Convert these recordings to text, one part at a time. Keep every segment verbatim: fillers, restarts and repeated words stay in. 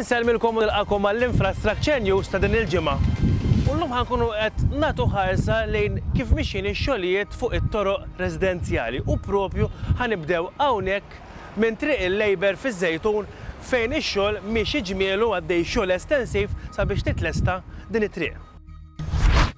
Insellmilkom u nilqakom għall-Infrastructure News ta' din il-ġimgħa. U llum ħa nkunu qed nagħtu ħarsa lejn kif mixjin ix-xogħlijiet fuq it-toroq residenzjali u propju ħa nibdew hawnhekk minn Triq il-Labour fiż-Żejtun, fejn ix-xogħol miexi ġmielu, għaddej xogħol estensiv sabiex titlesta din it-triq.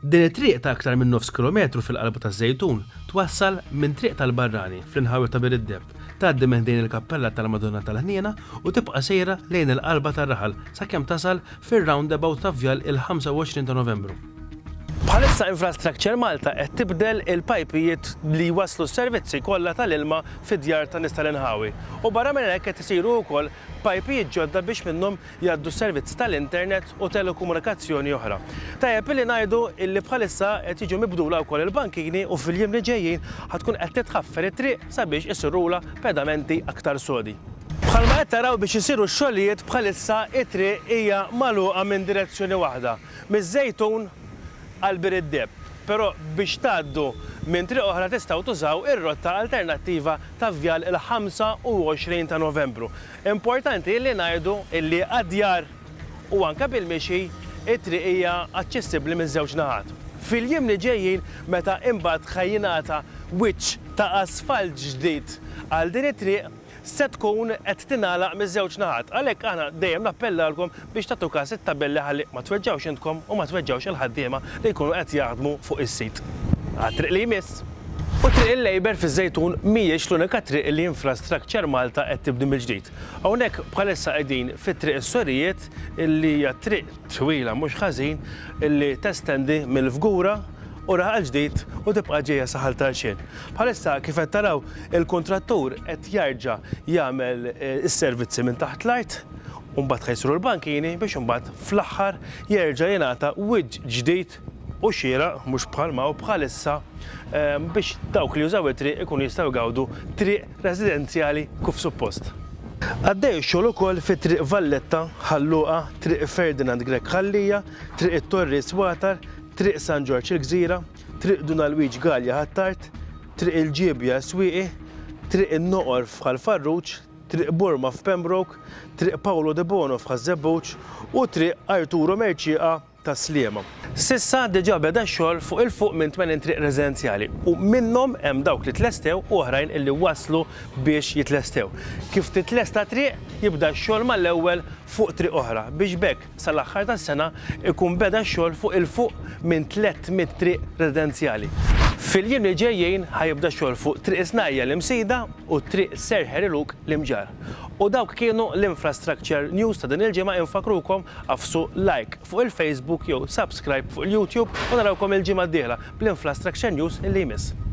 Din it-triq ta' aktar minn nofs kilometru fil-qalba taż-Żejtun twassal minn Triq tal-Barrani fl-inħawi ta' Bir id-Deheb, tgħaddi minn ħdejn il-Kappella tal-Madonna tal-Ħniena u tibqa' sejra lejn il-qalba tar-raħal sakemm tasal fir-roundabout ta' Vjal il-ħamsa u għoxrin ta' Novembru. Bħalissa Infrastructure Malta qed tibdel il-pajpijiet li jwasslu s-servizzi kollha tal-ilma fid-djar ta' nies tal-inħawi. U barra minn hekk qed isiru wkoll pajpijiet ġodda biex minnhom jgħaddu servizzi tal-internet u telekomunikazzjoni oħra. Tajjeb illi ngħidu illi bħalissa qed jiġu mibdula wkoll il-bankini u fil-jiem li ġejjin ħa tkun qed titħaffer it-triq sabiex isirula pedamenti aktar sodi. Bħalma qed taraw, biex isiru x-xogħlijiet bħalissa it-triq hija magħluqa minn direzzjoni waħda, miż-Żejtun għal Bir id-Deheb. Però biex tgħaddu minn triq oħra tistgħu tużaw ir-rotta alternattiva ta' Vjal il-ħamsa u għoxrin ta' Novembru. Importanti li ngħidu illi għad-djar u anke bil-mixi it-triq hija aċċessibbli minn żewġ naħat. Fil-jiem li ġejjin, meta imbagħad ħa jingħata wiċċ ta' asfalt ġdid għal din it-triq, se tkun qed tingħalaq miż-żewġ naħat. Għalhekk aħna dejjem nappellalkom biex tagħtu każ it-tabelli ħalli ma tweġġawx intkom u ma tweġġawx il-ħaddiema li jkunu qed jaħdmu fuq is-sit. Għat-triq li jmiss. U Triq il-Labour fiż-Żejtun mhijiex l-unika triq li Infrastructure Malta qed tibni mill-ġdid. Hawnhekk bħalissa qegħdin fit-Triq is-Sorijiet, illi hija triq twila mhux ħażin illi testendi mill-Fgura u Raħal Ġdid u tibqa' ġejja sa Ħal Tarxien. Bħalissa, kif qed taraw, il-kontrattur qed jarġa' jagħmel eh, is-servizzi minn taħt l-art u mbagħad ħa jsiru l-bankini biex imbagħad fl-aħħar jerġa' jingħata wiċċ ġdid u xieraq, mhux bħalma u bħalissa, eh, biex dawk li jużaw it-triq ikunu jistgħu jgawdu triq residenzjali kif suppost. Għaddej xogħol ukoll fi Triq Valletta, Ħal Luqa, Triq Ferdinand Grech Ħal Lija, Triq it-Torri Swatar, Triq San Ġorġ il-Gżira, Triq Dun Alwiġ Galea Ħ'Attard, Triq il-Ġiebja Swieqi, Triq in-Noqor f'Ħal Farruġ, Triq Burma f'Pembroke, Triq Paolo de Bono f'Ħaż-Żebbuġ u Triq Arturo Mercieca Tas-Sliema. S'issa diġà beda xogħol fuq 'il fuq minn tmenin triq residenzjali u minnhom hemm dawk li tlestew u oħrajn illi waslu biex jitlestew. Kif titlesta triq, jibda x-xogħol mal-ewwel fuq triq oħra biex b'hekk sal-aħħar tas-sena ikun beda x-xogħol fuq 'il fuq minn tliet mitt triq residenzjali. Fil-jiem li ġejjin ħa jibda xogħol fuq Triq Snajja l-Imsida u Triq Sir Harry Luke l-Imġarr. U dawk kienu l-Infrastructure News ta' din il-ġimgħa. Infakkrukom, agħfsu like fuq il-Facebook jew subscribe fuq il-YouTube u narawkom il-ġimgħa d-dieħla bl-Infrastructure News illi jmiss.